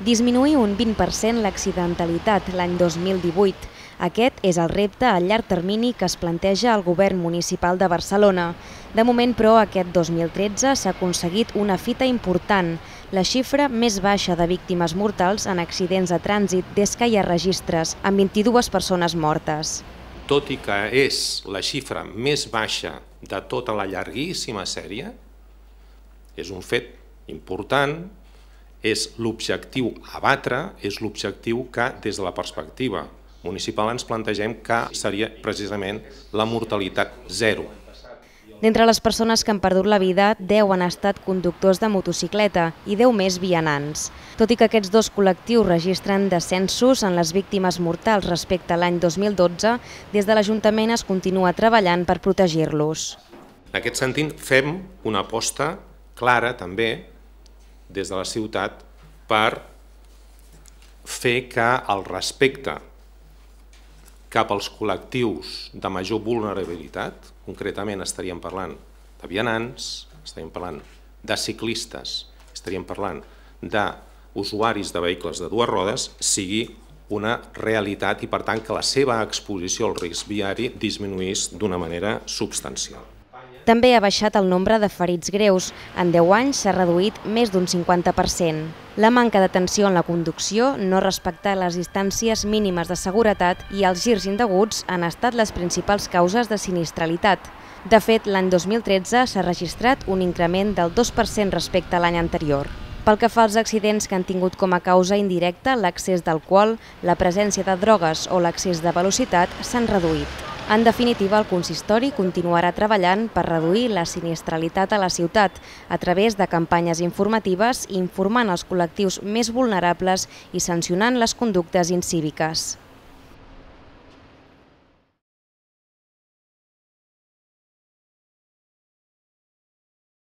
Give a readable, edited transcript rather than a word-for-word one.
Disminuir un 20% l'accidentalitat l'any 2018. Aquest és el repte a llarg termini que es planteja el govern municipal de Barcelona. De moment, però, aquest 2013 s'ha aconseguit una fita important, la xifra més baixa de víctimes mortals en accidents de trànsit des que hi ha registres, amb 22 persones mortes. Tot i que és la xifra més baixa de tota la llarguíssima sèrie, és un fet important, és l'objectiu a batre, és l'objectiu que des de la perspectiva municipal ens plantegem que seria precisament la mortalitat zero. D'entre les persones que han perdut la vida, 10 han estat conductors de motocicleta i 10 més vianants. Tot i que aquests dos col·lectius registren descensos en les víctimes mortals respecte a l'any 2012, des de l'Ajuntament es continua treballant per protegir-los. En aquest sentit, fem una aposta clara també des de la ciutat per fer que el respecte cap als col·lectius de major vulnerabilitat, concretament estaríem parlant de vianants, estaríem parlant de ciclistes, estaríem parlant d'usuaris de vehicles de dues rodes, sigui una realitat i per tant que la seva exposició al risc viari disminuís d'una manera substancial. També ha baixat el nombre de ferits greus. En 10 anys s'ha reduït més d'un 50%. La manca d'atenció en la conducció, no respectar les distàncies mínimes de seguretat i els girs indeguts han estat les principals causes de sinistralitat. De fet, l'any 2013 s'ha registrat un increment del 2% respecte a l'any anterior. Pel que fa als accidents que han tingut com a causa indirecta l'accés d'alcohol, la presència de drogues o l'accés de velocitat s'han reduït. En definitiva, el consistori continuarà treballant per reduir la sinistralitat a la ciutat a través de campanyes informatives, informant els col·lectius més vulnerables i sancionant les conductes incíviques.